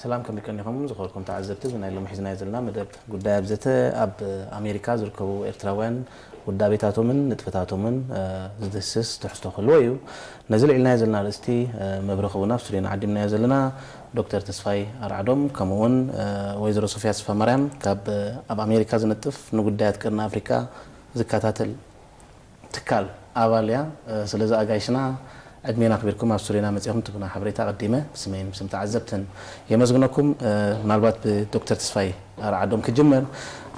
ሰላም፣ ከመይ ቀኒኹም ዝኸበርኩም ተዓዘብቲ? እዚ ናይ ሎሚ ሒዝናዮ ዘለና መደብ ጉዳይ ኣብ ዘተ ኣብ ኣሜሪካ ዝርከቡ ኤርትራውያን ውዳቤታቶምን ንጥፈታቶምን ዝድህስስ ትሕዝቶ ክህልዎ እዩ። ነዚ ልዒልናዮ ዘለና ኣርእስቲ መብርሂ ክህቡና ኣብ ስቱድዮና ዓዲምናዮ ዘለና ዶክተር ተስፋይ ኣርዓዶም ከምኡውን ወይዘሮ ሶፍያ ተስፋማርያም ካብ ኣብ ኣሜሪካ ዝነጥፍ ንጉዳያት ቀርኒ ኣፍሪካ ዝከታተል ትካል ኣባል እያ። ስለዚ ኣጋይሽና ዕድሜና ኣኽቢርኩም ኣብ ስቱድዮና መጺኹም ትህቡና ሓበሬታ ኣቐዲመ ብስመይን ብስም ተዓዘብትን የመስግነኩም። ምናልባት ብዶክተር ተስፋይ ኣርዓዶም ክጅመር።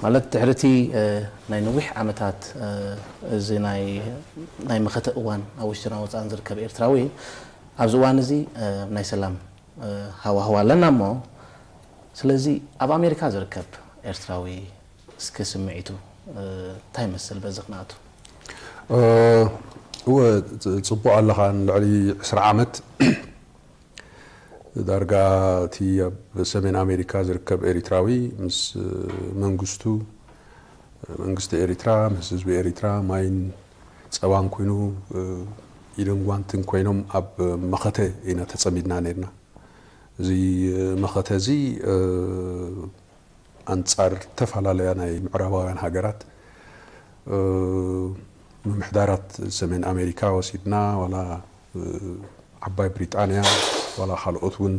ማለት ድሕሪ እቲ ናይ ነዊሕ ዓመታት እዚ ናይ መኸተ እዋን ኣብ ውሽጥና ወጻእን ዝርከብ ኤርትራዊ ኣብዚ እዋን እዚ ናይ ሰላም ሃዋህው ኣለና እሞ፣ ስለዚ ኣብ ኣሜሪካ ዝርከብ ኤርትራዊ እስኪ ስምዒቱ እንታይ ይመስል በዚ ክነኣቱ? እወ፣ ጽቡቕ ኣለኻ። ንልዕሊ ዕስራ ዓመት ዳርጋ እቲ ኣብ ሰሜን ኣሜሪካ ዝርከብ ኤሪትራዊ ምስ መንግስቱ፣ መንግስቲ ኤሪትራ ምስ ህዝቢ ኤሪትራ ማይን ጸባን ኮይኑ ኢድን ጓንትን ኮይኖም ኣብ መኸተ ኢና ተጸሚድና ነርና። እዚ መኸተ እዚ ኣንጻር ዝተፈላለያ ናይ ምዕራባውያን ሃገራት ምምሕዳራት ሰሜን ኣሜሪካ ወሲድና ዋላ ዓባይ ብሪጣንያ ዋላ ካልኦት እውን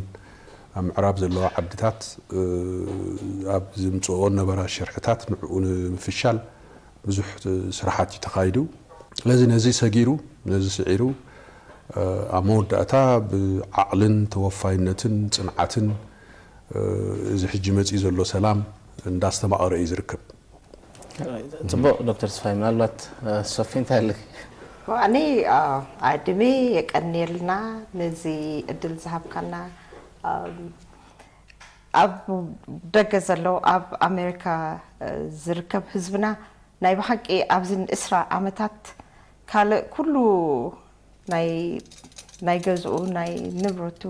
ኣብ ምዕራብ ዘለዋ ዓድታት ኣብ ዝምፅኦ ነበራ ሽርሕታት ንዕኡ ንምፍሻል ብዙሕ ስራሓት እዩ ተኻይዱ። ስለዚ ነዚ ሰጊሩ ነዚ ስዒሩ ኣብ መወዳእታ ብዓቕልን ተወፋይነትን ፅንዓትን እዚ ሕጂ መፂኡ ዘሎ ሰላም እንዳስተማቐረ እዩ ዝርከብ። ፅቡቕ ዶክተር ተስፋይ፣ ምናልባት ሶፊ እንታይ ኣለኪ? ኣነ ኣድሜ የቀንየልና ነዚ እድል ዝሃብካና። ኣብ ደገ ዘሎ ኣብ ኣሜሪካ ዝርከብ ህዝብና ናይ ብሓቂ ኣብዝን እስራ ዓመታት ካልእ ኩሉ ናይ ናይ ገዝኡ ናይ ንብረቱ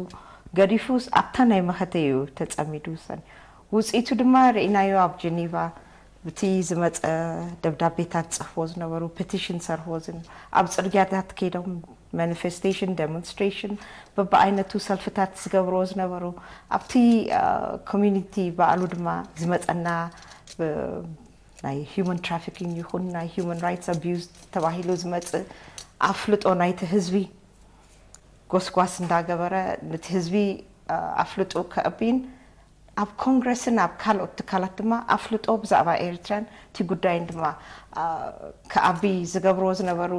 ገዲፉ ኣብታ ናይ መኸተ እዩ ተጸሚዱ ሰን ውጽኢቱ ድማ ርኢናዮ ኣብ ጀኒቫ ብቲ ዝመጸ ደብዳቤታት ጽሕፍዎ ዝነበሩ ፔቲሽን ሰርሕዎ ዝን ኣብ ጽርግያታት ከይዶም ማኒፌስቴሽን ዴሞንስትሬሽን በብዓይነቱ ሰልፍታት ዝገብርዎ ዝነበሩ ኣብቲ ኮሚኒቲ ባዕሉ ድማ ዝመጸና ናይ human trafficking ይኹን ናይ human rights abuse ተባሂሉ ዝመጽእ ኣፍልጦ ናይቲ ህዝቢ ጎስጓስ እንዳገበረ ነቲ ህዝቢ ኣፍልጦ ከእብይን ኣብ ኮንግረስን ኣብ ካልኦት ትካላት ድማ ኣፍልጦ ብዛዕባ ኤርትራን እቲ ጉዳይን ድማ ከኣቢ ዝገብርዎ ዝነበሩ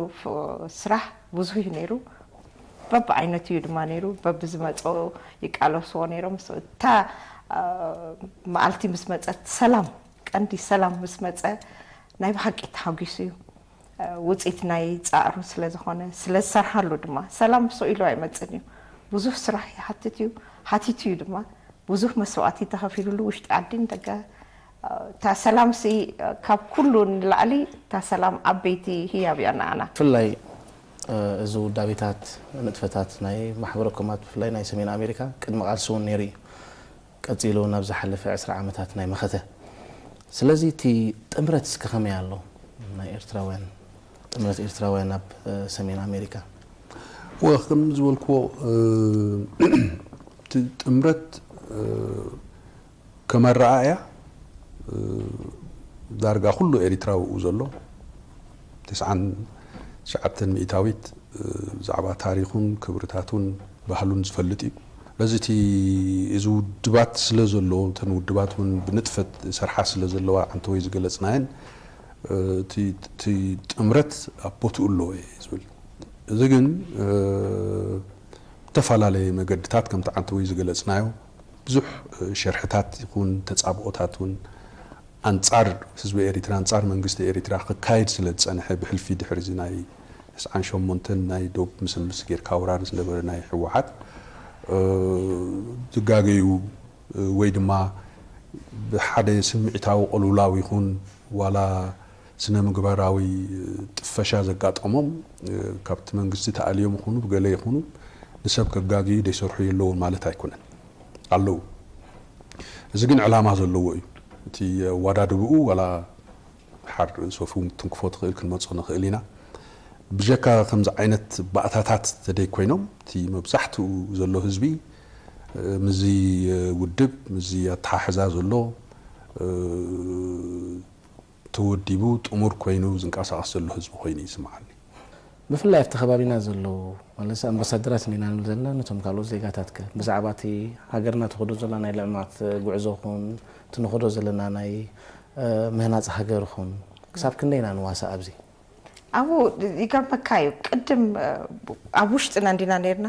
ስራሕ ብዙሕ እዩ ነይሩ። በብዓይነቱ እዩ ድማ ነይሩ። በብዝመፅኦ ይቃለስዎ ነይሮም። እታ መዓልቲ ምስ መፀት ሰላም ቀንዲ ሰላም ምስ መፀ ናይ ብሓቂ ተሓጒሱ እዩ። ውፅኢት ናይ ፃዕሩ ስለ ዝኾነ ስለ ዝሰርሓሉ ድማ ሰላም ስቕ ኢሉ ኣይመፅን እዩ። ብዙሕ ስራሕ ይሓትት እዩ፣ ሓቲቱ እዩ ድማ። ብዙሕ መስዋእቲ ተኸፊሉሉ ውሽጢ ዓዲን ደገ። እታ ሰላም ሲ ካብ ኩሉ ንላዕሊ እታ ሰላም ዓበይቲ ህያብ እያ ንዓና። ብፍላይ እዚ ውዳቤታት ንጥፈታት ናይ ማሕበረ ኮማት ብፍላይ ናይ ሰሜን ኣሜሪካ ቅድሚ ቃልሲ እውን ነይሩ እዩ። ቀጺሉ ናብ ዝሓለፈ ዕስራ ዓመታት ናይ መኸተ። ስለዚ እቲ ጥምረት እስከ ከመይ ኣሎ ናይ ኤርትራውያን ጥምረት ኤርትራውያን ኣብ ሰሜን ኣሜሪካ? ወ ከም ዝበልክዎ እቲ ጥምረት ከመረኣእያ ዳርጋ ኩሉ ኤሪትራዊ ኡ ዘሎ ተስዓን ትሽዓተን ሚእታዊት ብዛዕባ ታሪኹን ክብርታቱን ባህሉን ዝፈልጥ እዩ። ስለዚ እቲ እዚ ውድባት ስለ ዘሎ እተን ውድባት እውን ብንጥፈት ሰርሓ ስለ ዘለዋ ዓንተወይ ዝገለፅናየን እቲ ጥምረት ኣብ ቦትኡ ኣለዎ እየ ዝብል። እዚ ግን ብተፈላለየ መገድታት ከምቲ ዓንተወይ ዝገለፅናዮ ብዙሕ ሸርሕታት ይኹን ተፃብኦታት እውን ኣንፃር ህዝቢ ኤሪትራ ኣንፃር መንግስቲ ኤሪትራ ክካየድ ስለ ዝፀንሐ ብሕልፊ ድሕሪ እዚ ናይ ተስዓን ሸሞንተን ናይ ዶብ ምስምስ ጌርካ ወራር ዝነበረ ናይ ህወሓት ዝጋገዩ ወይ ድማ ብሓደ ስምዒታዊ ቅልውላው ይኹን ዋላ ስነ ምግባራዊ ጥፈሻ ዘጋጠሞም ካብቲ መንግስቲ ተኣልዮም ይኹኑ ብገለ ይኹኑ ንሰብ ከጋግዩ ደይሰርሑ የለውን ማለት ኣይኮነን ኣለዉ። እዚ ግን ዕላማ ዘለዎ እዩ። እቲ ኣዋዳድብኡ ዋላ ሓር ሶፊ ትንክፎ ትኽእል ክንመጾ ንኽእል ኢና። ብጀካ ከምዚ ዓይነት ባእታታት ተደይ ኮይኖም እቲ መብዛሕትኡ ዘሎ ህዝቢ ምዚ ውድብ፣ ምዚ ኣተሓሕዛ ዘሎ ተወዲቡ ጥሙር ኮይኑ ዝንቀሳቐስ ዘሎ ህዝቢ ኮይኑ ይስምዓኒ። ብፍላይ ኣብቲ ከባቢና ዘለዉ ማለት ኣምባሳደራት ኢና ንብል ዘለና፣ ነቶም ካልኦት ዜጋታት ከ ብዛዕባ እቲ ሃገርና ትኸዶ ዘላ ናይ ልዕማት ጉዕዞ ኹን እቲ ንኸዶ ዘለና ናይ ምህናፅ ሃገር ኹን ክሳብ ክንደይ ኢና ንዋሳእ ኣብዚ? ኣብኡ ይገርመካ እዩ ቅድም ኣብ ውሽጥና እንዲና ነርና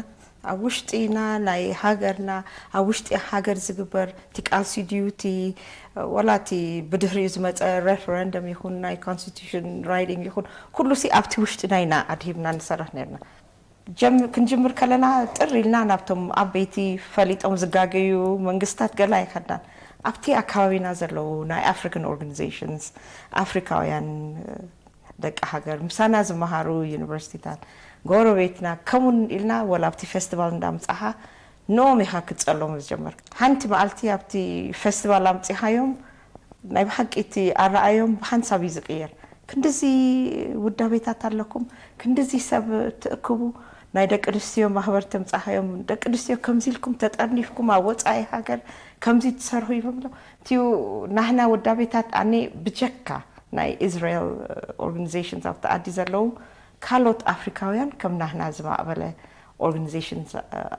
ኣብ ውሽጢና ናይ ሃገርና ኣብ ውሽጢ ሃገር ዝግበር እቲ ቃልሲ ድዩ እቲ ወላ እቲ ብድህሪኡ ዝመፀ referendum ይኹን ናይ constitution writing ይኹን ኩሉ ሲ ኣብቲ ውሽጥና ኢና ኣድሂብና ንሰርሕ ነርና። ክንጅምር ከለና ጥር ኢልና ናብቶም ዓበይቲ ፈሊጦም ዝጋገዩ መንግስታት ገላ ኣይኸድናን። ኣብቲ ኣካባቢና ዘለዉ ናይ African organisations ኣፍሪካውያን ደቂ ሃገር ምሳና ዝመሃሩ ዩኒቨርሲቲታት ጎረቤትና ከምኡን ኢልና ወላ ኣብቲ ፌስቲቫል እንዳምፃኻ ንኦም ኢኻ ክትፀሎም ዝጀመርካ። ሓንቲ መዓልቲ ኣብቲ ፌስቲቫል ኣምፂኻዮም ናይ ብሓቂ እቲ ኣረኣዮም ብሓንሳብ እዩ ዝቅየር። ክንድዚ ውዳቤታት ኣለኩም፣ ክንድዚ ሰብ ትእክቡ፣ ናይ ደቂ ኣንስትዮ ማህበር ተምፃኻዮም፣ ደቂ ኣንስትዮ ከምዚ ኢልኩም ተጠርኒፍኩም ኣብ ወፃኢ ሃገር ከምዚ ትሰርሑ ይብሎም። እቲዩ ናህና ውዳቤታት ኣነ ብጀካ ናይ Israel organisations ኣብቲ ዓዲ ዘለዉ ካልኦት ኣፍሪካውያን ከም ናህና ዝማዕበለ organisations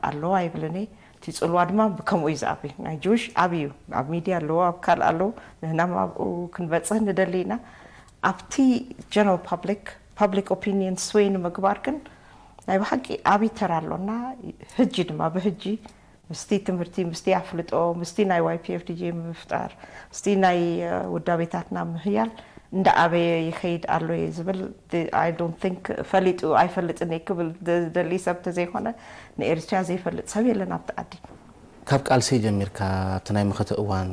ኣለዋ ይብልን እየ። እቲ ፅልዋ ድማ ብከምኡ እዩ ዝዓቢ። ናይ ጅውሽ ዓብዩ ኣብ ሚድያ ኣለዎ፣ ኣብ ካልእ ኣለዉ። ንህና ኣብኡ ክንበፅህ ንደሊ ኢና። ኣብቲ general public public opinion sway ንምግባር ግን ናይ ብሓቂ ዓብዪ ተራ ኣሎና። ህጂ ድማ ብህጂ ምስቲ ትምህርቲ፣ ምስቲ ኣፍልጦ፣ ምስቲ ናይ ዋይ ፒ ኤፍ ዲ ጂ ምፍጣር፣ ምስቲ ናይ ውዳቤታትና ምህያል እንዳዓበየ ይኸይድ ኣሎ እየ ዝብል። I don't think ፈሊጡ ኣይፈልጥን እየ ክብል ዝደሊ ሰብ ተዘይኮነ ንኤርትራ ዘይፈልጥ ሰብ የለን ኣብቲ ዓዲ። ካብ ቃልሲ ጀሚርካ ኣብቲ ናይ መኸተ እዋን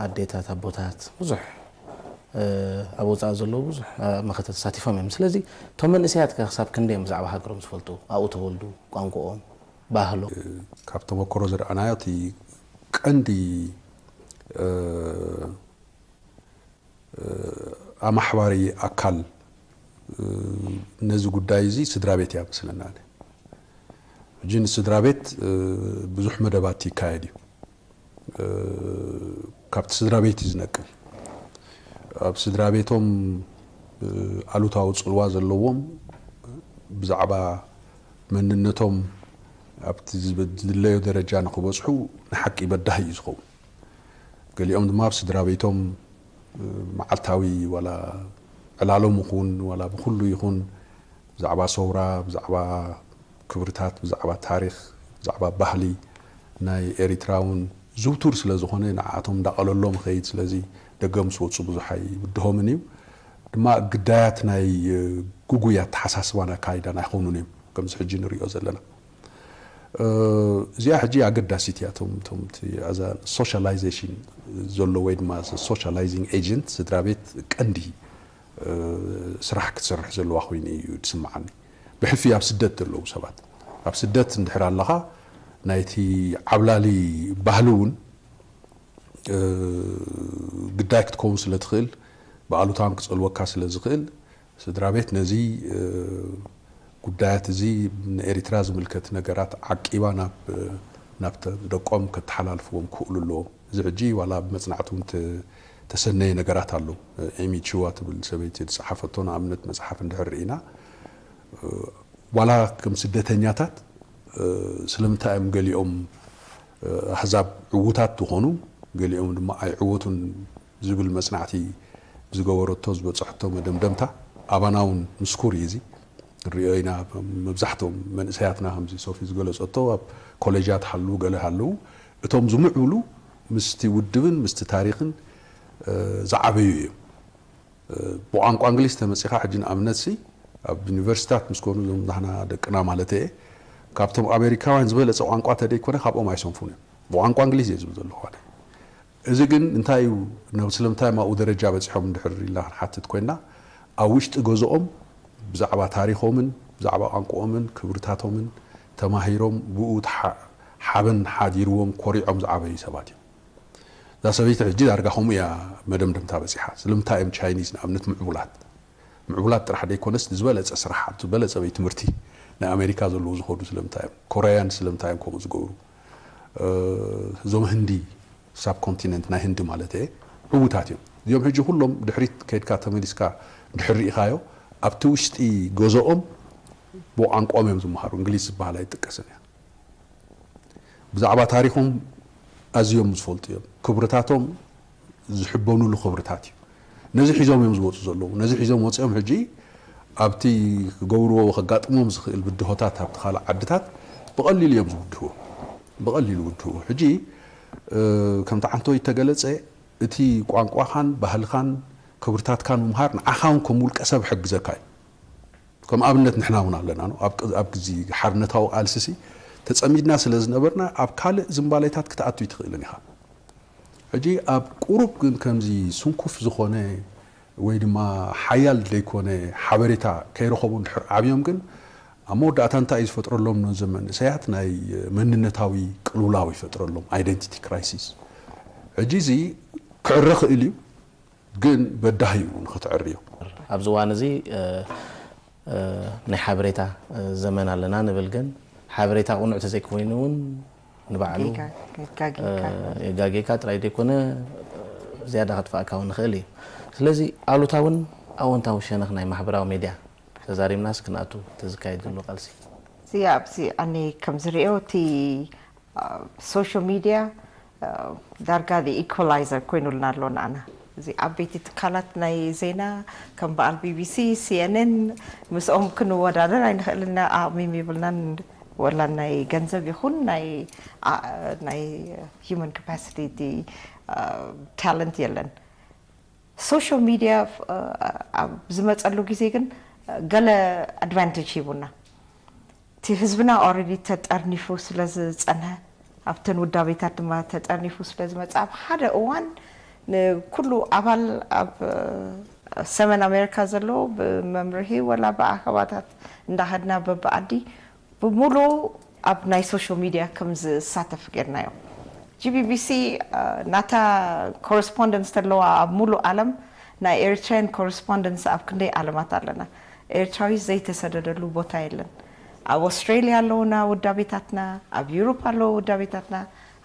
ኣዴታት ኣቦታት ብዙሕ ኣብ ወፃኢ ዘለዉ ብዙሕ መኸተ ተሳቲፎም እዮም። ስለዚ እቶም መንእሰያት ከ ክሳብ ክንደይ እዮም ብዛዕባ ሃገሮም ዝፈልጡ ኣብኡ ተወልዱ ቋንቋኦም ባህሎም። ካብ ተመክሮ ዝረኣናዮ እቲ ቀንዲ ኣማሕባሪ ኣካል ነዚ ጉዳይ እዚ ስድራ ቤት እያ መስለና። ሕጂ ንስድራ ቤት ብዙሕ መደባት ይካየድ እዩ። ካብቲ ስድራ ቤት እዩ ዝነቅል። ኣብ ስድራ ቤቶም ኣሉታዊ ፅልዋ ዘለዎም ብዛዕባ መንነቶም ኣብቲ ዝድለዮ ደረጃ ንክበፅሑ ንሓቂ በዳሂ እዩ ዝኸውን። ገሊኦም ድማ ኣብ ስድራ ቤቶም መዓልታዊ ዋላ ዕላሎም ይኹን ዋላ ብኩሉ ይኹን ብዛዕባ ሰውራ፣ ብዛዕባ ክብርታት፣ ብዛዕባ ታሪኽ፣ ብዛዕባ ባህሊ ናይ ኤሪትራ እውን ዝውቱር ስለ ዝኾነ ንዓኣቶም እንዳቐለሎም ይኸይድ። ስለዚ ደገ ምስ ወፁ ብዙሕ ኣይብድሆምን እዩ። ድማ ግዳያት ናይ ግጉይ ኣተሓሳስባን ኣካይዳን ኣይኾኑን እዮም ከምዚ ሕጂ ንሪኦ ዘለና። እዚኣ ሕጂ ኣገዳሲት እያ። እቶም እቶም እቲ ኣዛ ሶሻላይዜሽን ዘሎ ወይ ድማ ሶሻላይዚንግ ኤጀንት ስድራ ቤት ቀንዲ ስራሕ ክትሰርሕ ዘለዋ ኮይኑ እዩ ዝስምዓኒ። ብሕልፊ ኣብ ስደት ዘለዉ ሰባት ኣብ ስደት እንድሕር ኣለኻ ናይቲ ዓብላሊ ባህሊ እውን ግዳይ ክትከውን ስለ ትኽእል ብኣሉታውን ክጸልወካ ስለ ዝኽእል ስድራ ቤት ነዚ ጉዳያት እዚ ንኤሪትራ ዝምልከት ነገራት ዓቂባ ናብ ናብ ደቆም ከተሓላልፍዎም ክኽእሉ ኣለዎም። እዚ ሕጂ ዋላ ብመጽናዕቲ እውን ተሰነየ ነገራት ኣሎ። ኤሚ ቺዋ ትብል ሰበይቲ ዝጸሓፈቶ ንኣብነት መጽሓፍ እንድሕር ርኢና ዋላ ከም ስደተኛታት ስለምንታይ እዮም ገሊኦም ኣህዛብ ዕዉታት ዝኾኑ ገሊኦም ድማ ኣይዕወቱን ዝብል መጽናዕቲ ዝገበረቶ ዝበጽሐቶ መደምደምታ ኣባና እውን ምስኩር እዩ። እዚ ንሪኦ ኢና። መብዛሕትኦም መንእሰያትና ከምዚ ሶፊ ዝገለጸቶ ኣብ ኮሌጃት ሃልዉ ገለ ሃለዉ እቶም ዝምዕብሉ ምስቲ ውድብን ምስቲ ታሪኽን ዝዓበዩ እዮም። ብቋንቋ እንግሊዝ ተመጺኻ ሕጂ ንኣብነት ሲ ኣብ ዩኒቨርሲታት ምስ ኮኑ እዞም ናህና ደቅና ማለት እየ ካብቶም ኣሜሪካውያን ዝበለጸ ቋንቋ ተደይኮነ ካብኦም ኣይሰንፉን እዮም። ብቋንቋ እንግሊዝ እየ ዝብል ዘለኹ ኣነ። እዚ ግን እንታይ እዩ ናብ ስለምንታይ ማኡ ደረጃ በጺሖም እንድሕር ኢልና ክንሓትት ኮይና ኣብ ውሽጢ ገዝኦም ብዛዕባ ታሪኾምን ብዛዕባ ቋንቋኦምን ክብርታቶምን ተማሂሮም ብኡ ሓበን ሓዲርዎም ኮሪዖም ዝዓበዩ ሰባት እዮም። እዛ ሰበይቲ ሕጂ ዳርጋ ከምኡ እያ መደምደምታ በፂሓ። ስለምንታይ እዮም ቻይኒዝ ንኣብነት ምዕቡላት ምዕቡላት ጥራሕ ደይኮነስ ዝበለፀ ስራሕ ኣብ ዝበለፀ ቤት ትምህርቲ ናይ ኣሜሪካ ዘለዉ ዝኸዱ ስለምንታይ እዮም? ኮረያን ስለምንታይ እዮም ከምኡ ዝገብሩ? እዞም ህንዲ ሳብ ኮንቲነንት ናይ ህንዲ ማለት እየ ዕዉታት እዮም። እዚኦም ሕጂ ኩሎም ድሕሪት ከይድካ ተመሊስካ ድሕር ርኢኻዮ ኣብቲ ውሽጢ ገዝኦም ብቋንቋኦም እዮም ዝመሃሩ። እንግሊዝ ዝበሃል ኣይጥቀስን እያ። ብዛዕባ ታሪኾም ኣዝዮም ዝፈልጡ እዮም። ክብርታቶም ዝሕበኑሉ ክብርታት እዩ። ነዚ ሒዞም እዮም ዝወፁ ዘለዉ። ነዚ ሒዞም ወፂኦም ሕጂ ኣብቲ ክገብርዎ ከጋጥሞም ዝኽእል ብድሆታት ኣብቲ ካልእ ዓድታት ብቐሊሉ እዮም ዝውድህዎ። ብቐሊሉ ውድህዎ። ሕጂ ከምቲ ዓንቶ ይተገለፀ እቲ ቋንቋኻን ባህልኻን ክብርታትካን ምምሃር ንዓኻ እውን ከም ውልቀ ሰብ ሕግዘካ እዩ። ከም ኣብነት ንሕና እውን ኣለና ነው ኣብ ግዜ ሓርነታዊ ቃልስሲ ተፀሚድና ስለ ዝነበርና ኣብ ካልእ ዝንባሌታት ክትኣቱ ይትኽእልን ኢኻ። ሕጂ ኣብ ቁሩብ ግን ከምዚ ስንኩፍ ዝኾነ ወይ ድማ ሓያል ዘይኮነ ሓበሬታ ከይረኸቡ እንድሕር ዓብዮም ግን ኣብ መወዳእታ እንታይ እዩ ዝፈጥረሎም ነዞም መንእሰያት ናይ መንነታዊ ቅልውላው ይፈጥረሎም፣ identity crisis። ሕጂ እዚ ክዕረ ክእል እዩ ግን በዳሂ እዩ ንክትዕርዮ። ኣብዚ እዋን እዚ ናይ ሓበሬታ ዘመን ኣለና ንብል ግን ሓበሬታ ቁኑዕ ተዘይኮይኑ እውን ንባዕሉ የጋጌካ ጥራይ ዘይኮነ ዝያዳ ከጥፋእካ እውን ንኽእል እዩ። ስለዚ ኣሉታውን ኣወንታዊ ሸነኽ ናይ ማሕበራዊ ሜድያ ተዛሪብናስ ክንኣቱ ተዝካየድ ዘሎ ቃልሲ እዚ ኣብዚ ኣነ ከም ዝሪኦ እቲ social media ዳርጋ ኢኳላይዘር ኮይኑልና ኣሎ ንኣና። እዚ ዓበይቲ ትካላት ናይ ዜና ከም በዓል ቢቢሲ፣ ሲኤንኤን ምስኦም ክንወዳደር ኣይንኽእልን ኢና። ኣቕሚም ይብልናን ወላ ናይ ገንዘብ ይኹን ናይ ናይ human capacity ታለንት የለን። social media ኣብ ዝመፀሉ ግዜ ግን ገለ ኣድቫንቴጅ ሂቡና። እቲ ህዝብና already ተጠርኒፉ ስለ ዝፀንሐ ኣብተን ውዳቤታት ድማ ተጠርኒፉ ስለ ዝመፀ ኣብ ሓደ እዋን ንኩሉ ኣባል ኣብ ሰሜን ኣሜሪካ ዘሎ ብመምርሂ ወላ ብኣኸባታት እንዳኸድና በብዓዲ ብሙሉ ኣብ ናይ social media ከም ዝሳተፍ ጌርናዮ። ጂቢቢሲ ናታ ኮረስፖንደንስ ተለዋ ኣብ ሙሉ ዓለም ናይ ኤሪትራያን ኮረስፖንደንስ ኣብ ክንደይ ዓለማት ኣለና። ኤርትራዊ ዘይተሰደደሉ ቦታ የለን። ኣብ ኣውስትራሊያ ኣለውና ውዳቤታትና፣ ኣብ ዩሮፕ ኣለዉ ውዳቤታትና፣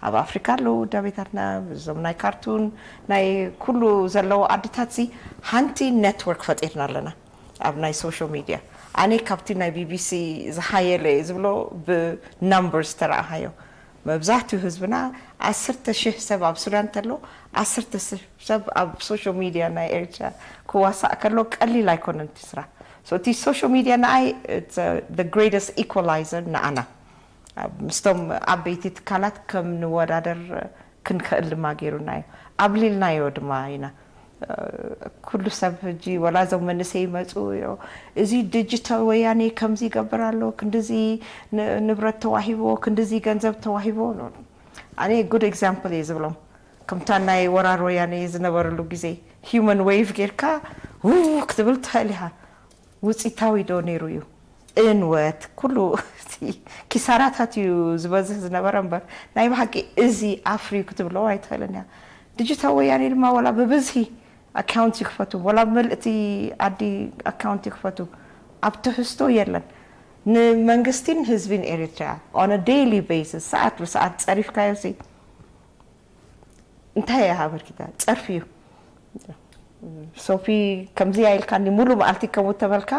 ኣብ ኣፍሪካ ኣለዉ ውዳቤታትና፣ እዞም ናይ ካርቱን ናይ ኩሉ ዘለዉ ዓድታት ሲ ሓንቲ ኔትወርክ ፈጢርና ኣለና ኣብ ናይ social media። ኣነ ካብቲ ናይ ቢቢሲ ዝሓየለ እየ ዝብሎ ብናምበርስ ተረኣኻዮ መብዛሕትኡ ህዝብና ዓሰርተ ሽሕ ሰብ ኣብ ሱዳን ተሎ ዓሰርተ ሽሕ ሰብ ኣብ social media ናይ ኤርትራ ክዋሳእ ከሎ ቀሊል ኣይኮነን እቲ ስራሕ። So እቲ social media ንኣይ greatest equalizer ንኣና ምስቶም ዓበይቲ ትካላት ከም ንወዳደር ክንክእል ድማ ገይሩና እዩ። ኣብሊልናዮ ድማ ኢና። ኩሉ ሰብ ሕጂ ወላ እዞም መንእሰይ ይመፁ እዚ ዲጂታል ወያኔ ከምዚ ይገብር ኣሎ ክንድዚ ንብረት ተዋሂቦ ክንድዚ ገንዘብ ተዋሂቦ ኣነ good example እየ ዝብሎም ከምታ ናይ ወራር ወያኔ ዝነበረሉ ግዜ human wave ጌርካ ክትብል ትኽእል ኢኻ ውፂታዊ ዶ ነይሩ እዩ እንወት ኩሉ ኪሳራታት እዩ ዝበዝህ ዝነበረ እምበር ናይ ብሓቂ እዚ ኣፍርዩ ክትብሎ ኣይትኽእልን እያ። ዲጂታል ወያኔ ድማ ወላ ብብዝሂ ኣካውንት ይክፈቱ ወላ ምልእቲ ዓዲ ኣካውንት ይክፈቱ ኣብ ትሕዝቶ የለን። ንመንግስቲን ህዝቢን ኤሪትሪያ on a daily basis ሰዓት ብሰዓት ፀሪፍካዮ ሲ እንታይ እያ ኣበርኪታ ፀርፊ እዩ። ሶፊ ከምዚ ኢልካኒ ሙሉ መዓልቲ ከምኡ ተበልካ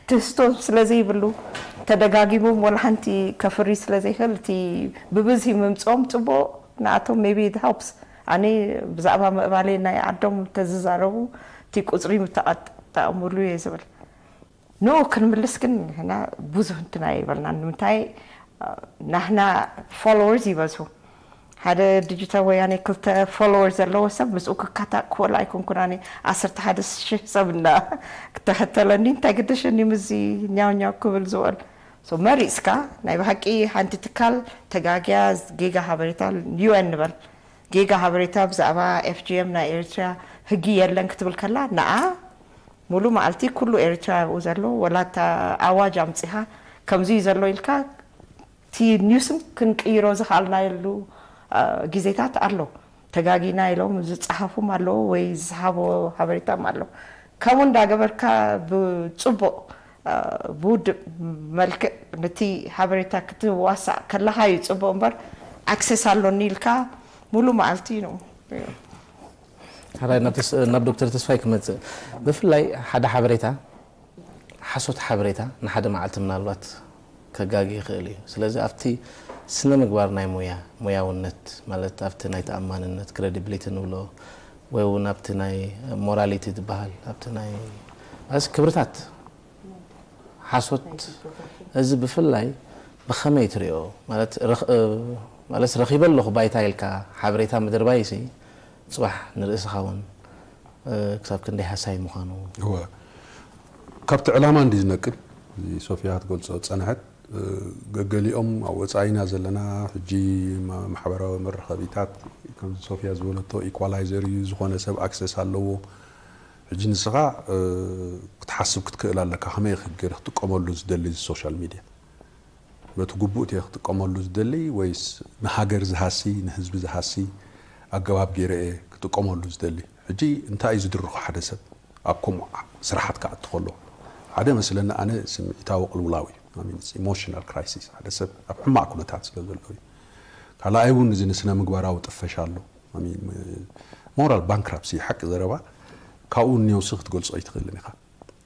ትህዝቶ ስለ ዘይብሉ ተደጋጊሞም ወላ ሓንቲ ከፍሪ ስለ ዘይክእል እቲ ብብዝሒ ምምፅኦም ፅቡቕ ንኣቶም maybe it helps ኣነ ብዛዕባ ምዕባሌ ናይ ዓዶም ተዝዛረቡ እቲ ቁፅሪ ምተጠቐሙሉ እየ ዝብል ንኡ ክንምልስ ግን ንሕና ብዙህ እንትና ይበልና ንምንታይ ናህና followers ይበዝሁ ሓደ ዲጂታል ወያኔ ክልተ ፎሎወር ዘለዎ ሰብ ምስኡ ክካታእ ክኽእል ኣይኮንኩን ኣነ ዓሰርተ ሓደ ሽሕ ሰብ እና ክተኸተለኒ እንታይ ግደሸኒ ምስዚ ኛው ኛው ክብል ዝውዕል so መሪፅካ ናይ ብሓቂ ሓንቲ ትካል ተጋግያ ጌጋ ሓበሬታ UN ንበል ጌጋ ሓበሬታ ብዛዕባ FGM ናይ ኤርትራ ህጊ የለን ክትብል ከላ ንኣ ሙሉ መዓልቲ ኩሉ ኤርትራ ኣብኡ ዘሎ ወላ እታ ኣዋጅ ኣምፂኻ ከምዚ እዩ ዘሎ ኢልካ እቲ ኒውስን ክንቅይሮ ዝኽኣልናየሉ ግዜታት ኣሎ። ተጋጊና ኢሎም ዝፀሓፉም ኣለዉ ወይ ዝሃቦ ሓበሬታም ኣሎ። ከምኡ እንዳገበርካ ብፅቡቕ ብውድብ መልክዕ ነቲ ሓበሬታ ክትዋሳእ ከለኻ እዩ ጽቡቕ እምበር፣ ኣክሰስ ኣሎኒ ኢልካ ሙሉ መዓልቲ ነው። ሓራይ ናብ ተስ- ናብ ዶክተር ተስፋይ ክመጽእ፣ ብፍላይ ሓደ ሓበሬታ፣ ሓሶት ሓበሬታ ንሓደ መዓልቲ ምናልባት ከጋጊ ይኽእል እዩ። ስለዚ ኣብቲ ስነ ምግባር ናይ ሙያ፣ ሙያውነት ማለት ኣብቲ ናይ ተኣማንነት፣ ክሬዲቢሊቲ ንብሎ፣ ወይ እውን ኣብቲ ናይ ሞራሊቲ ዝበሃል፣ ኣብቲ ናይ ማለት ክብርታት፣ ሓሶት፣ እዚ ብፍላይ ብኸመይ ትሪኦ? ማለት ረኽ- ማለት ረኺበ ኣለኹ ባይታ ኢልካ ሓበሬታ ምድርባይሲ፣ ጽባሕ ንርእስኻ እውን ክሳብ ክንደይ ሃሳይ ምዃኑ። እወ፣ ካብቲ ዕላማ እንዲ ዝነቅል፣ እዚ ሶፊያ ክትገልጾ ዝጸንሐት፣ ገገሊኦም ኣብ ወጻኢና ዘለና፣ ሕጂ ማ- ማሕበራዊ መራኸቢታት፣ ከምዚ ሶፊያ ዝበለቶ ኢኳላይዘር እዩ፣ ዝኾነ ሰብ ኣክሰስ ኣለዎ። ሕጂ ንስኻ ክትሓስብ ክትክእል ኣለካ፣ ከመይ ገይረ ክጥቀመሉ ዝደሊ እዚ ሶሻል ሚድያ? በቲ ግቡእ እየ ክጥቀመሉ ዝደሊ ወይስ ንሃገር ዝሃሲ፣ ንህዝቢ ዝሃሲ ኣገባብ ገይረ እየ ክጥቀመሉ ዝደሊ? ሕጂ እንታይ እዩ ዝድርኾ ሓደ ሰብ ኣብ ከምኡ ስራሓት ክኣቱ ከሎ? ሓደ መስለኒ ኣነ ስምዒታዊ ቅልውላው እዩ። ኢሞሽናል ክራይሲስ፣ ሓደ ሰብ ኣብ ሕማቕ ኩነታት ስለ ዘሎ እዩ። ካልኣይ እውን እዚ ንስነ ምግባራዊ ጥፈሻ ኣሎ። ሞራል ባንክራፕሲ፣ ሓቂ ዘረባ፣ ካብኡ ኔውሲ ክትገልጾ ኣይትኽእልን ኢኻ።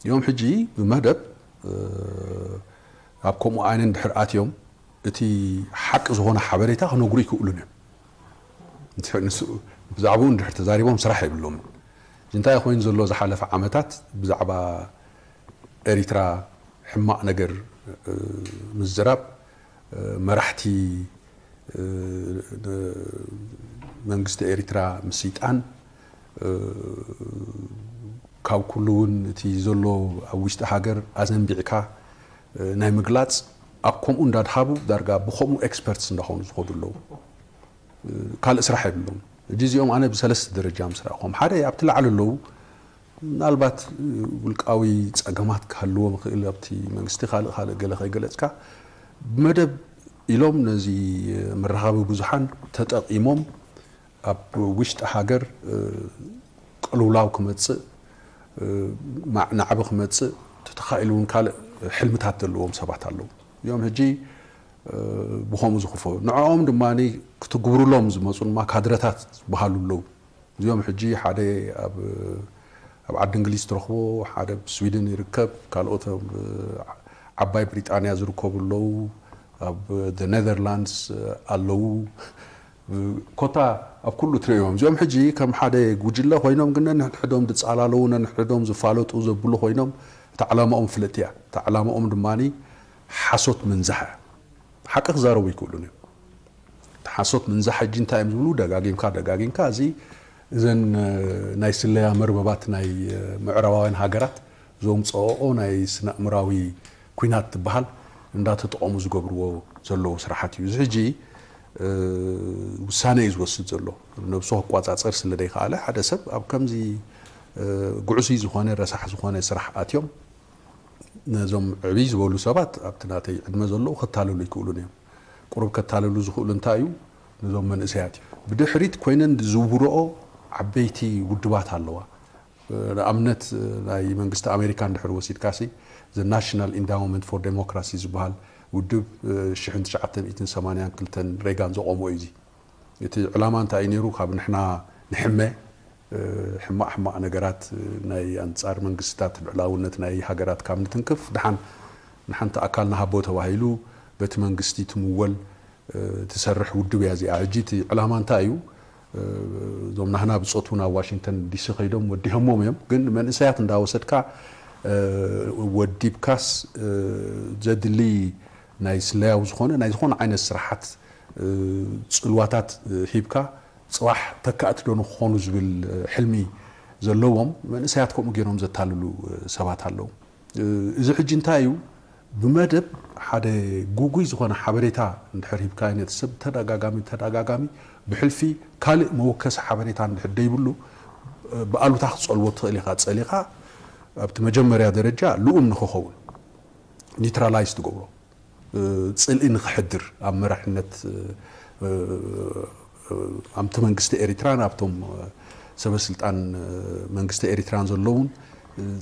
እዮም ሕጂ ብመደብ ኣብ ከምኡ ዓይነ እንድሕር ኣትዮም እቲ ሓቂ ዝኾነ ሓበሬታ ክነግሩ ይክእሉን እዮም። ንሱ ብዛዕባኡ እንድሕር ተዛሪቦም ስራሕ የብሎምን። እንታይ ኮይኑ ዘሎ ዝሓለፈ ዓመታት ብዛዕባ ኤሪትራ ሕማቕ ነገር ምዝራብ፣ መራሕቲ መንግስቲ ኤሪትራ ምስይጣን፣ ካብ ኩሉ እውን እቲ ዘሎ ኣብ ውሽጢ ሃገር ኣዘንቢዕካ ናይ ምግላጽ፣ ኣብ ከምኡ እንዳድሃቡ ዳርጋ ብከምኡ ኤክስፐርትስ እንዳኾኑ ዝኸዱ ኣለዉ። ካልእ ስራሕ የብሎም። ሕጂ እዚኦም ኣነ ብሰለስተ ደረጃ ምስ ረኣኹም፣ ሓደ ኣብቲ ላዕሊ ኣለዉ፣ ምናልባት ውልቃዊ ጸገማት ክህልዎም ይኽእል፣ ኣብቲ መንግስቲ ካልእ ካልእ ገለ ከይገለጽካ፣ ብመደብ ኢሎም ነዚ መራኸቢ ብዙሓን ተጠቒሞም ኣብ ውሽጢ ሃገር ቅልውላው ክመጽእ፣ ናዕቢ ክመጽእ፣ ተተኻኢሉ እውን ካልእ ሕልምታት ዘለዎም ሰባት ኣለዉ። እዮም ሕጂ ብኸምኡ ዝኽፈሉ። ንዕኦም ድማ ክትግብሩሎም ዝመፁ ድማ ካድረታት ዝበሃሉ ኣለዉ። እዚኦም ሕጂ ሓደ ኣብ ኣብ ዓዲ እንግሊዝ ትረኽቦ፣ ሓደ ኣብ ስዊድን ይርከብ፣ ካልኦት ኣብ ዓባይ ብሪጣንያ ዝርከቡ ኣለዉ፣ ኣብ ኔዘርላንድስ ኣለዉ። ኮታ ኣብ ኩሉ ትርእዮም። እዚኦም ሕጂ ከም ሓደ ጉጅለ ኮይኖም ግን ነንሕድሕዶም ዝጻላለዉ፣ ነንሕድሕዶም ዝፋለጡ ዘብሉ ኮይኖም፣ እታ ዕላማኦም ፍልጥቲ እያ። እታ ዕላማኦም ድማ ሓሶት ምንዛሕ እያ። ሓቂ ክዛረቡ ይክእሉን እዮም። እቲ ሓሶት ምንዛሕ ሕጂ እንታይ እዮም ዝብሉ? ደጋጊምካ ደጋጊምካ እዚ እዘን ናይ ስለያ መርበባት ናይ ምዕራባውያን ሃገራት ዘምፅኦኦ ናይ ስነ ኣእምራዊ ኩናት ትበሃል እንዳተጠቐሙ ዝገብርዎ ዘለዉ ስራሓት እዩ። እዚ ሕጂ ውሳነ እዩ ዝወስድ ዘሎ። ነብሱ ክቋፃፀር ስለ ዘይከኣለ ሓደ ሰብ ኣብ ከምዚ ጉዕዙይ ዝኾነ ረሳሕ ዝኾነ ስራሕ ኣትዮም ነዞም ዕብይ ዝበሉ ሰባት ኣብቲ ናተይ ዕድመ ዘለዉ ከታልሉ ይክእሉን እዮም። ቁሩብ ከታልሉ ዝኽእሉ እንታይ እዩ? ነዞም መንእሰያት እዩ። ብድሕሪት ኮይነን ዝዝውርኦ ዓበይቲ ውድባት ኣለዋ። ንኣብነት ናይ መንግስቲ ኣሜሪካ እንድሕር ወሲድካሲ፣ The National Endowment for Democracy ዝበሃል ውድብ ሽሕን ትሽዓተ ሚእትን ሰማንያን ክልተን ሬጋን ዘቆሞ እዩ። እዚ እቲ ዕላማ እንታይ እዩ ነይሩ? ካብ ንሕና ንሕመ ሕማቕ ሕማቕ ነገራት ናይ ኣንጻር መንግስትታት ልዕላውነት ናይ ሃገራት ካብ ንትንክፍ፣ ድሓን ንሓንቲ ኣካል ንሃቦ ተባሂሉ በቲ መንግስቲ ትምወል ትሰርሕ ውድብ እያ እዚኣ። ሕጂ እቲ ዕላማ እንታይ እዩ? እዞም ናህና ብጾት እውን ኣብ ዋሽንግተን ዲሲ ከይዶም ወዲሆሞም እዮም። ግን መንእሰያት እንዳወሰድካ ወዲብካስ ዘድሊ ናይ ስለያዊ ዝኾነ ናይ ዝኾነ ዓይነት ስራሓት ጽልዋታት ሂብካ ጽባሕ ተካእቲ ዶ ንክኾኑ ዝብል ሕልሚ ዘለዎም መንእሰያት ከምኡ ገይሮም ዘታልሉ ሰባት ኣለዉ። እዚ ሕጂ እንታይ እዩ? ብመደብ ሓደ ጉጉይ ዝኾነ ሓበሬታ እንድሕር ሂብካዮ ነቲ ሰብ ተደጋጋሚ ተደጋጋሚ ብሕልፊ ካልእ መወከሲ ሓበሬታ እንድሕር ደይብሉ ብኣሉታ ክትጸልዎ ትኽእል ኢኻ። ጸሊኻ ኣብቲ መጀመርያ ደረጃ ልኡም ንክኸውን ኒውትራላይዝ ትገብሮ። ጽልኢ ንኽሕድር ኣብ መራሕነት ኣብቲ መንግስቲ ኤሪትራን ኣብቶም ሰበስልጣን መንግስቲ ኤሪትራን ዘለውን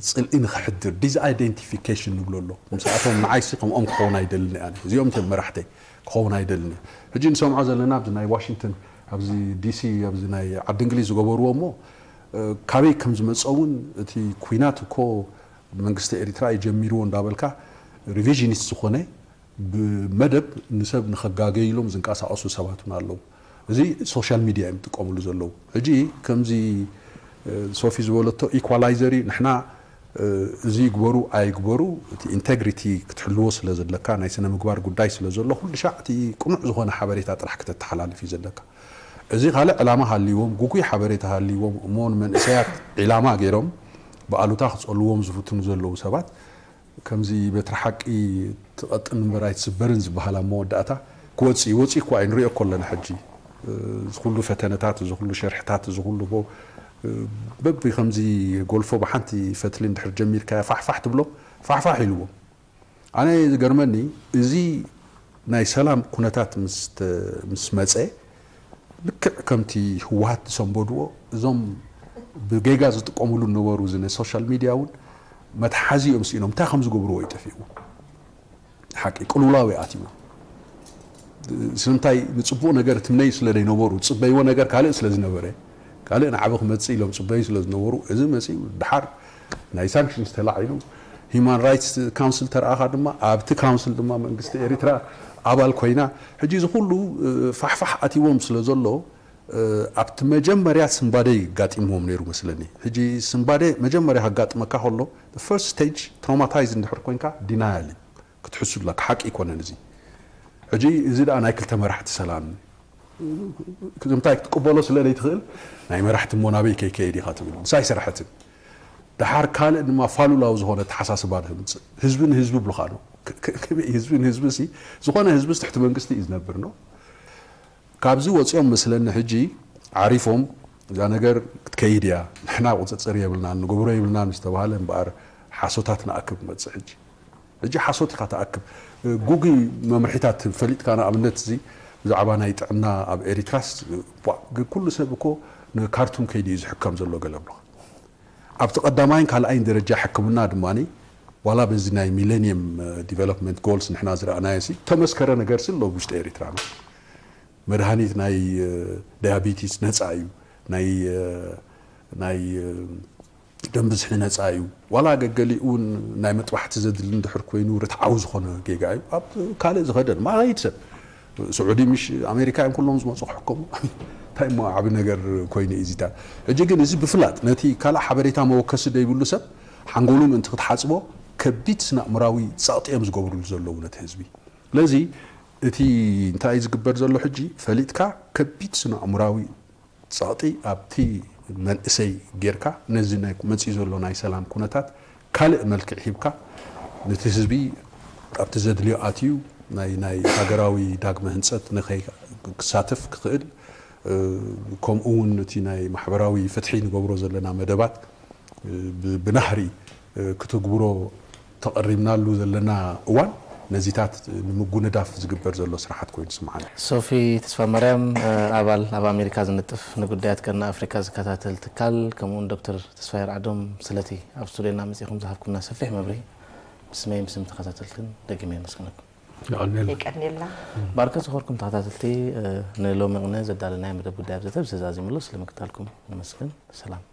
ጽልኢ ንኽሕድር፣ ዲስኣይደንቲፊኬሽን ንብሎ ኣሎ። ምስኣቶም ንዓይሲ ከምኦም ክኸውን ኣይደልን እየ። እዚኦም እቶም መራሕተይ ክኸውን ኣይደልን እየ። ሕጂ ንሰምዖ ዘለና ኣብዚ ናይ ዋሽንግተን፣ ኣብዚ ዲሲ፣ ኣብዚ ናይ ዓዲ እንግሊዝ ዝገበርዎ እሞ፣ እ፣ ካበይ ከም ዝመጸ እውን፣ እቲ ኲናት እኮ መንግስቲ ኤሪትራ እዩ ጀሚርዎ እንዳበልካ፣ ሪቪዥኒስት ዝኾነ፣ ብመደብ ንሰብ ንኸጋገይሎም ዝንቀሳቐሱ ሰባት እውን ኣለዉ። እዚ ሶሻል ሚድያ እዮም ዝጥቀምሉ ዘለዉ። ሕጂ ከምዚ፣ እ፣ ሶፊ ዝበለቶ ኢኳላይዘር እዩ። ንሕና፣ እ፣ እዚ ይግበሩ ኣይግበሩ፣ እቲ ኢንቴግሪቲ ክትሕልዎ ስለ ዘለካ፣ ናይ ስነ ምግባር ጉዳይ ስለ ዘሎ፣ ኩሉ ሻዕ እቲ ቅኑዕ ዝኾነ ሓበሬታ ጥራሕ ክተተሓላልፍ እዩ ዘለካ። እዚ ካልእ ዕላማ ሃልይዎም፣ ጉጉይ ሓበሬታ ሃልይዎም እሞ፣ ንመንእሰያት ዒላማ ገይሮም ብኣሉታ ክጸልዎም ዝፍትኑ ዘለዉ ሰባት፣ ከምዚ በትሪ ሓቂ ትቐጥን እምበር ኣይትስበርን ዝበሃል ኣብ መወዳእታ ክወጽእ እዩ። ወጺኡ እኮ እዩ፣ ንሪኦ እኮ ኣለና ሕጂ። እ፣ እዚ ኩሉ ፈተነታት፣ እዚ ኩሉ ሸርሕታት፣ እዚ ኩሉ ቦ-፣ እ፣ በቢ ከምዚ ጎልፎ ብሓንቲ ፈትሊ እንድሕር ጀሚርካዮ ፋሕፋሕ ትብሎ፣ ፋሕፋሕ ኢልዎ። ኣነ ዝገርመኒ፣ እዚ ናይ ሰላም ኩነታት ምስ ተ-፣ ምስ መጸ፣ ልክዕ ከምቲ ህወሓት ዝሰንበድዎ፣ እዞም ብጌጋ ዝጥቀምሉ ዝነበሩ፣ እዚ ናይ ሶሻል ሚድያ እውን መትሓዚ እዮም ስኢኖም። እንታይ ከም ዝገብርዎ እዩ ጠፊእዎ። ሓቂ ቅልውላው እዩ ኣትይዎ። ስለምንታይ? ንጽቡቕ ነገር ትምነዩ ስለ ዘይነበሩ፣ ዝጽበይዎ ነገር ካልእ ስለ ዝነበረ፣ ካልእ ንዓቢ ክመጽእ ኢሎም ዝጽበዩ ስለ ዝነበሩ፣ እዚ መጺኡ ደሓር ናይ ሳንክሽንስ ተላዒሉ፣ ሂማን ራይትስ ካውንስል ተረኣኻ ድማ፣ ኣብቲ ካውንስል ድማ መንግስቲ ኤሪትራ ኣባል ኮይና፣ ሕጂ እዚ ኩሉ፣ እ፣ ፋሕፋሕ ኣትይዎም ስለ ዘሎ፣ እ፣ ኣብቲ መጀመርያ ስንባደ ይጋጢምዎም ነይሩ መስለኒ። ሕጂ ስንባደ መጀመርያ ከጋጥመካ ከሎ፣ ፈርስት ስቴጅ ትሮማታይዝ እንድሕር ኮንካ ዲናያል እዩ። ክትሕሱ ኣለካ፣ ሓቂ ኣይኮነን እዚ። ሕጂ እዚ ደኣ ናይ ክልተ መራሕቲ ሰላም፣ እንታይ ክትቅበሎ ስለ ዘይትኽእል፣ ናይ መራሕቲ እሞ ናበይ ከይከይድ ኢኻ ትብል። ንሳ ኣይሰራሐትን። ደሓር ካልእ ድማ ፋሉላዊ ዝኾነ ኣተሓሳስባ ተምጽእ። ህዝቢ ንህዝቢ ብሉኻ ነው። ከ-፣ ከ-፣ ከመይ ህዝቢ ንህዝቢ ሲ፣ ዝኾነ ህዝቢ ትሕቲ መንግስቲ እዩ ዝነብር ነው። ካብዚ ወጺኦም መስለኒ ሕጂ ዓሪፎም፣ እዛ ነገር ክትከይድ እያ፣ ንሕና ቁጽጽር የብልናን፣ ንገብሮ የብልናን ዝተባህለ እምበኣር ሓሶታት ንኣክብ መጽእ ሕጂ። ሕጂ ሓሶት ኢኻ ትኣክብ። ጉጉይ መምርሒታት ፈሊጥካ፣ ንኣብነት እዚ ብዛዕባ ናይ ጥዕና ኣብ ኤሪትራስ፣ ቧ፣ ግ-፣ ኩሉ ሰብ እኮ ንካርቱም ከይዱ እዩ ዝሕከም ዘሎ ገለ ብሎ። ኣብቲ ቀዳማይን ካልኣይን ደረጃ ሕክምና ድማ፣ ዋላ በዚ ናይ ሚሌኒየም፣ እ፣ ዲቨሎፕመንት ጎልስ ንሕና ዝረኣናዮ ሲ፣ ተመስከረ ነገር ሲ ኣሎ ውሽጢ ኤሪትራ ነው። መድሃኒት ናይ፣ እ፣ ዳያቢቲስ ነጻ እዩ። ናይ፣ እ፣ ናይ፣ እ፣ ደም ብዝሒ ነጻ እዩ። ዋላ ገገሊኡ እውን ናይ መጥባሕቲ ዘድሊ እንድሕር ኮይኑ ርትዓዊ ዝኾነ ጌጋ እዩ። ኣብ ካልእ ዝኸደ ድማ ይኸይድ ሰብ። ስዑዲ ምሽ ኣሜሪካ እዮም ኩሎም ዝመጹ ክሕከሙ። እንታይ እሞ ዓቢ ነገር ኮይኑ እዩ እዚታት። ሕጂ ግን እዚ ብፍላጥ ነቲ ካልእ ሓበሬታ መወከሲ ዘይብሉ ሰብ ሓንጎሉ ምእንቲ ክትሓጽቦ ከቢድ ስነ ኣእምራዊ ጸቕጢ እዮም ዝገብሩሉ ዘለዉ ነቲ ህዝቢ። ስለዚ እቲ እንታይ እዩ ዝግበር ዘሎ ሕጂ ፈሊጥካ ከቢድ ስነ ኣእምራዊ ጸቕጢ ኣብቲ መንእሰይ ጌርካ ነዚ ናይ መጺኡ ዘሎ ናይ ሰላም ኩነታት ካልእ መልክዕ ሂብካ ነቲ ህዝቢ ኣብቲ ዘድልዮ ኣትዩ ናይ፣ ናይ ሃገራዊ ዳግመ ህንጸት ንኸይ-፣ ክሳተፍ ክኽእል፣ እ፣ ከምኡ እውን እቲ ናይ ማሕበራዊ ፍትሒ ንገብሮ ዘለና መደባት፣ እ፣ ብ-፣ ብናህሪ፣ እ፣ ክትግብሮ ተቐሪብናሉ ዘለና እዋን ነዚታት ንምጉንዳፍ ዝግበር ዘሎ ስራሓት ኮይኑ ስምዓኒ። ሶፊ ተስፋማርያም፣ እ፣ ኣባል ኣብ ኣሜሪካ ዝንጥፍ ንጉዳያት ቀርኒ ኣፍሪካ ዝከታተል ትካል፣ ከምኡውን ዶክተር ተስፋይ ኣርዓዶም ስለቲ ኣብ ስቱድዮና መጺኹም ዝሃብኩምና ሰፊሕ መብርሂ ብስመይን ብስም ተኸታተልትን ደጊመ የመስግነኩም። የቐንየልና። የቀንየልና። ባርከ ዝኾርኩም ተኸታተልቲ፣ እ፣ ንሎሚ ቅነ ዘዳለናዮ መደብ ጉዳይ ኣብ ዘተ ብዝተዛዚምሉ ስለ ምክታልኩም ነመስግን። ሰላም።